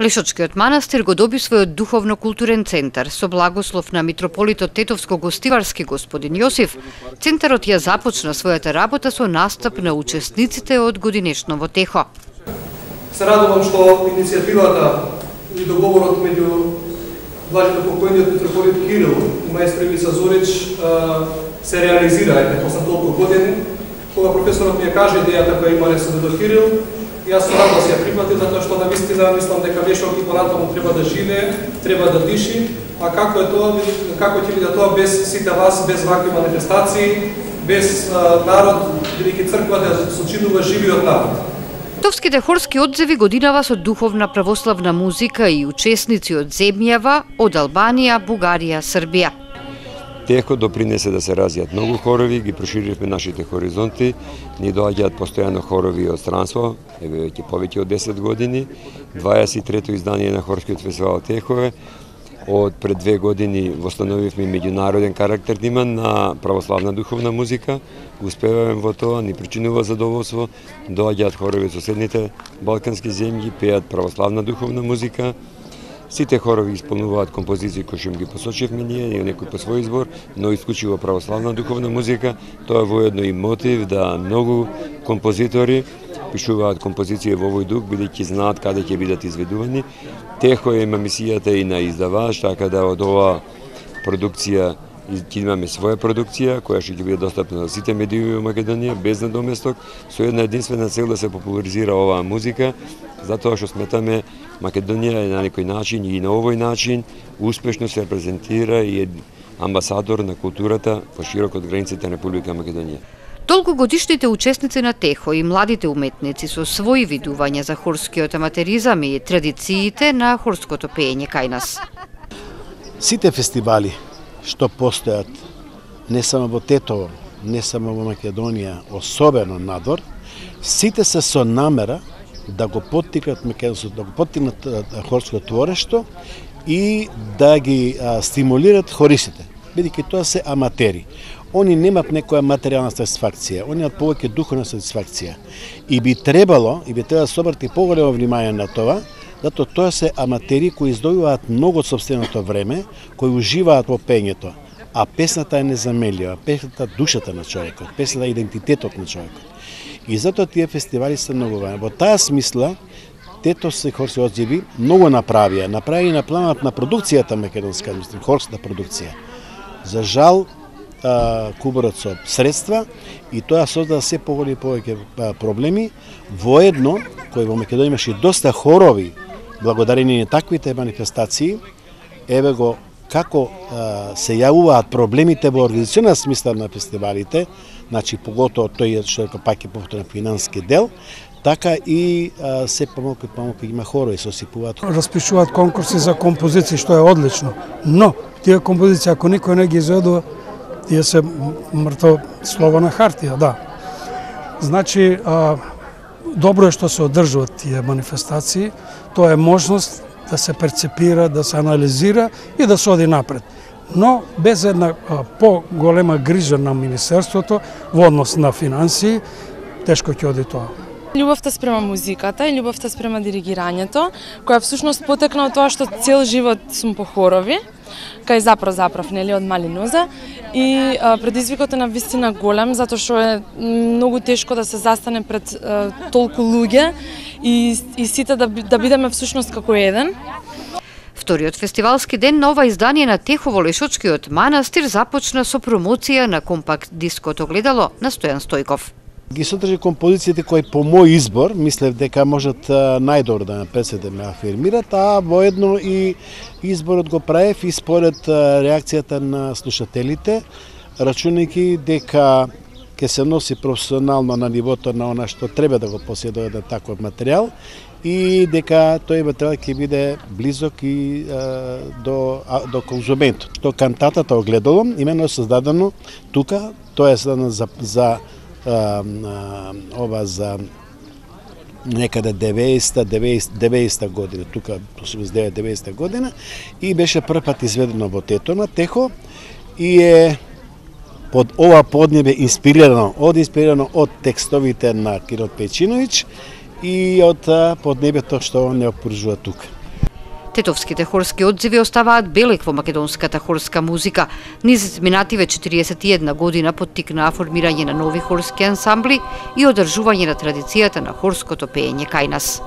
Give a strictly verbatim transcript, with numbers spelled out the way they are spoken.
Лешочкиот манастир го доби својот духовно-културен центар. Со благослов на митрополитот Тетовско-Гостиварски господин Јосиф, центарот ја започна својата работа со настап на учесниците од годинешно во Техо. Се радувам што иницијативата и договорот меѓу блажено покојниот митрополит Кирил и маестро Миса Зорич се реализира е после толку години. Кога професорот ми ја каже идејата која има се до Кирил, јас со радост ја прифатив, затоа што навистина мислам дека Лешок и понатаму треба да живее, треба да диши, а како е тоа, како ќе биде тоа без сите вас, без вакви манифестации, без а, народ, бидејќи црквата ја сочинува живиот народ. Товските хорски одзеви годинава со духовна православна музика и учесници од земјава, од Албанија, Бугарија, Србија. Техо допринесе да се развијат многу хорови, ги проширивме нашите хоризонти, ни доаѓаат постојано хорови од странство, еве веќе повеќе од десет години, дваесет и трето издание на хорскиот фестивал Техове. Од пред две години восстановивме меѓународен карактер има на православна духовна музика, успеваме во тоа, ни причинува задоволство, доаѓаат хорови од соседните балкански земји, пеат православна духовна музика. Сите хорови исполнуваат композиции кои што ги посочивме ние, и некој по свој избор, но исклучиво православна духовна музика. Тоа е воедно и мотив да многу композитори пишуваат композиции во овој дух, бидејќи знаат каде ќе бидат изведувани. Техо има мисијата и на издавач, така да од оваа продукција ќе имаме своја продукција, која ќе биде достапна на сите медии во Македонија, без надоместок, со една единствена цел да се популаризира оваа музика, затоа што сметаме Македонија е на некој начин и на овој начин успешно се репрезентира и е амбасадор на културата поширок од границите на Република Македонија. Долгогодишните учесници на Техо и младите уметници со своји видувања за хорскиот аматеризам и традициите на хорското пеење кај нас. Сите фестивали што постојат не само во Тетово, не само во Македонија, особено надвор, сите се со намера да го поттикнат македонското, да го поттикнат хорското творештво и да ги а, стимулират хористите, бидејќи тоа се аматери. Они немат некоја материјална сатисфакција, они имаат повеќе духовна сатисфакција. И би требало, и би требало да се обрати поголемо внимание на тоа, затоа тоа се аматери кои издобиваат многу од сопственото време, кои уживаат во пењето. А песната е незаменлива, песната е душата на човекот, песната е идентитетот на човекот. И затоа тие фестивали се многу важни. Во таа смисла, Тетовски хорски одзеви многу направија, направи и на планот на продукцијата македонска, мислам, хорската продукција. За жал, куборот со средства и тоа создава се поголеми повеќе проблеми. Воедно, кој во Македонија имаше доста хорови, благодарение на таквите манифестации, еве го како а, се јавуваат проблемите во организационна смисла на фестивалите, значи поготово тој што е пак е повторен финански дел, така и а, се помалку и помалку има хорови сосипуваат. Распишуваат конкурси за композиции, што е одлично, но тие композиции ако никој не ги изведува, тие се мртво слово на хартија, да. Значи, а, добро е што се одржуваат тие манифестации, тоа е можност да се перцепира, да се анализира и да се оди напред. Но без една а, по-голема грижа на Министерството во однос на финансии, тешко ќе оди тоа. Љубовта спрема музиката и љубовта спрема диригирањето, која всушност потекна од тоа што цел живот сум по хорови, кај заправ заправ, нели, од мали ноза, и а, предизвикот е на вистина голем, затоа што е многу тешко да се застане пред а, толку луѓе и, и сите да, да бидеме всушност како еден. Вториот фестивалски ден на ова издание на Техо во Лешочкиот манастир започна со промоција на компакт диското огледало на Стојан Стојков. Ги содржи композициите кои по мој избор, мислев дека можат најдобро да ме пресете ме афирмират, а воедно и изборот го правев и според реакцијата на слушателите, рачунајќи дека ќе се носи професионално на нивото на она што треба да го поседува на таков материјал и дека тој материјал ќе биде близок и а, до, а, до конзументот. Тоа кантатата огледало имено е создадено тука, тоа е создадено за, за а, а, ова за некаде деветдесета година, тука осумдесет и девет деветдесета година и беше прв пат изведено во Тето на Техо и е под ова поднебе инспирирано, од инспирирано од текстовите на Кирил Пејчиновиќ и од поднебето што не опоружува тука. Тетовските хорски одзиви оставаат белег во македонската хорска музика. Низ минативе четириесет и една година поттикнаа формирање на нови хорски ансамбли и одржување на традицијата на хорското пеење кај нас.